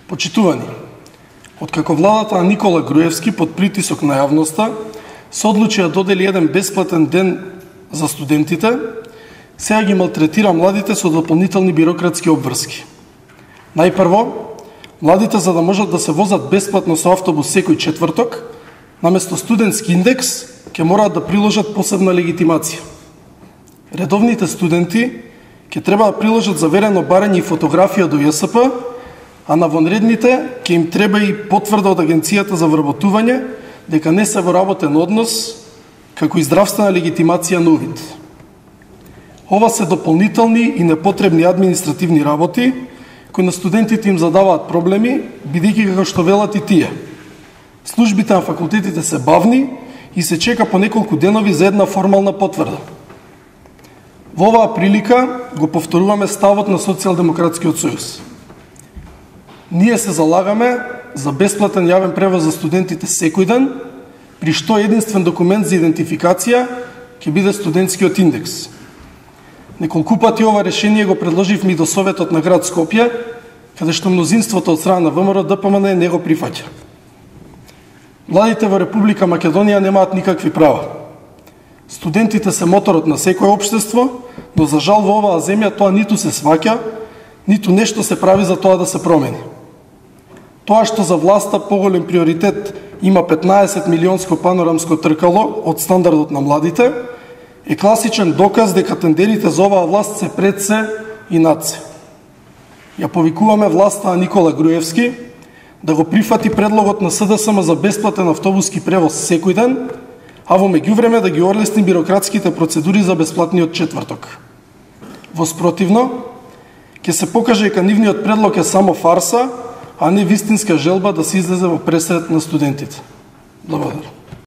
Почитувани, откако владата на Никола Груевски под притисок на јавноста се одлучи да додели еден бесплатен ден за студентите, сега ги малтретира младите со дополнителни бирократски обврски. Најпрво, младите за да можат да се возат бесплатно со автобус секој четврток, наместо студентски индекс, ќе мораат да приложат посебна легитимација. Редовните студенти ќе треба да приложат заверено барање и фотографија до ЈСП, а на вонредните ќе им треба и потврда од Агенцијата за вработување дека не се во работен однос, како и здравствена легитимација на увид. Ова се дополнителни и непотребни административни работи, кои на студентите им задаваат проблеми, бидејќи како што велат и тие. Службите на факултетите се бавни и се чека по неколку денови за една формална потврда. Во оваа прилика го повторуваме ставот на Социјалдемократскиот сојуз. Ние се залагаме за бесплатен јавен превоз за студентите секој ден, при што единствен документ за идентификација ќе биде студентскиот индекс. Неколку пати ова решение го предложивме и до Советот на град Скопје, каде што мнозинството од страна на ВМРО ДПМН не го прифаќа. Младите во Република Македонија немаат никакви права. Студентите се моторот на секое општество, но за жал во оваа земја тоа ниту се сваќа, ниту нешто се прави за тоа да се промени. Тоа што за власта поголем приоритет има 15 милионско панорамско тркало од стандардот на младите, е класичен доказ дека тендерите за оваа власт се пред се и над се. Ја повикуваме власта на Никола Груевски да го прифати предлогот на СДСМ за бесплатен автобуски превоз секој ден, а во меѓувреме да ги орлесни бирократските процедури за бесплатниот четврток. Во спротивно, ќе се покаже дека нивниот предлог е само фарса, а не вистинска желба да се излезе во пресред на студентите. Благодарам.